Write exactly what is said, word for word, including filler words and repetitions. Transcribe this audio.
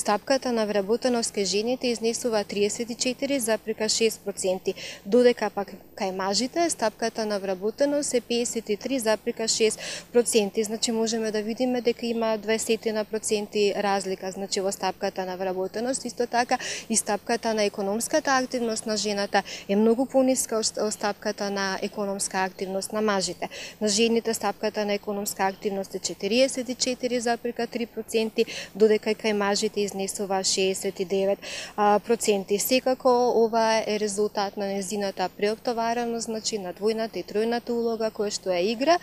стапката на вработеност кај жените изнесува триесет и четири запирка шест проценти, додека пак кај мажите стапката на вработеност е педесет и три запирка шест проценти. Значи можеме да видиме дека има дваесет проценти разлика, значи во стапката на вработеност. Исто така и стапката на економската активност на жената е многу пониска од стапката на економска активност на мажите. На жените стапката на економска активност е четириесет и четири запирка три проценти, додека кај мажите изнесува шеесет и девет проценти. Секако ова е резултат на незината преоптовареност, значи на двојната и тројната улога која што ја игра.